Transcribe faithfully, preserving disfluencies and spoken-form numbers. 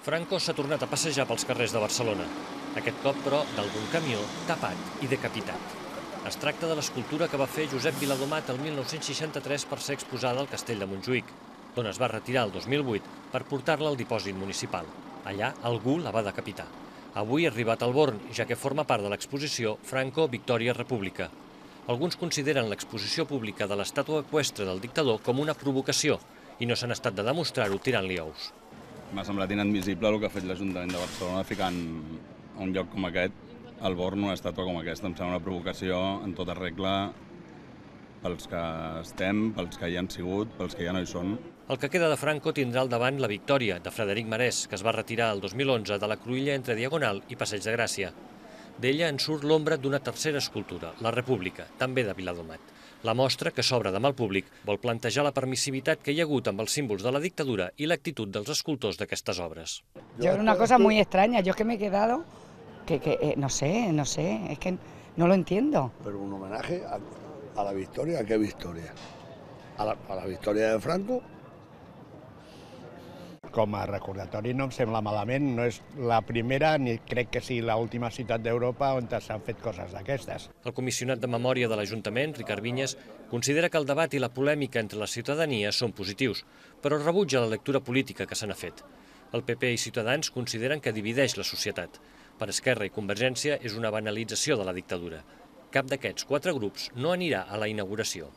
Franco s'ha tornat a passejar pels carrers de Barcelona. Aquest cop, però, d'algun camió tapat i decapitat. Es tracta de l'escultura que va fer Josep Viladomat el mil nou-cents seixanta-tres per ser exposada al castell de Montjuïc, d'on es va retirar el dos mil vuit per portar-la al dipòsit municipal. Allà algú la va decapitar. Avui ha arribat al Born, ja que forma part de l'exposició Franco, Victòria, República. Alguns consideren l'exposició pública de l'estàtua eqüestre del dictador com una provocació i no s'han estat de demostrar-ho tirant-li ous. M'ha semblat inadmissible el que ha fet l'Ajuntament de Barcelona ficant a un lloc com aquest, al Born, una estàtua com aquesta. Em sembla una provocació en tota regla pels que estem, pels que hi han sigut, pels que ja no hi són. El que queda de Franco tindrà al davant la Victòria, de Frederic Marès, que es va retirar el dos mil onze de la cruïlla entre Diagonal i Passeig de Gràcia. D'ella en surt l'ombra d'una tercera escultura, la República, també de Viladomat. La mostra, que s'obre demà al públic, vol plantejar la permissivitat que hi ha hagut amb els símbols de la dictadura i l'actitud dels escultors d'aquestes obres. Yo era una cosa muy extraña, yo es que me he quedado, que, que eh, no sé, no sé, es que no lo entiendo. Pero un homenaje a, a la victoria, ¿a qué victoria? A la, a la victòria de Franco. Com a recordatori no em sembla malament, no és la primera ni crec que sigui l'última ciutat d'Europa on s'han fet coses d'aquestes. El comissionat de memòria de l'Ajuntament, Ricard Vinyes, considera que el debat i la polèmica entre la ciutadania són positius, però rebutja la lectura política que se n'ha fet. El P P i Ciutadans consideren que divideix la societat. Per Esquerra i Convergència és una banalització de la dictadura. Cap d'aquests quatre grups no anirà a la inauguració.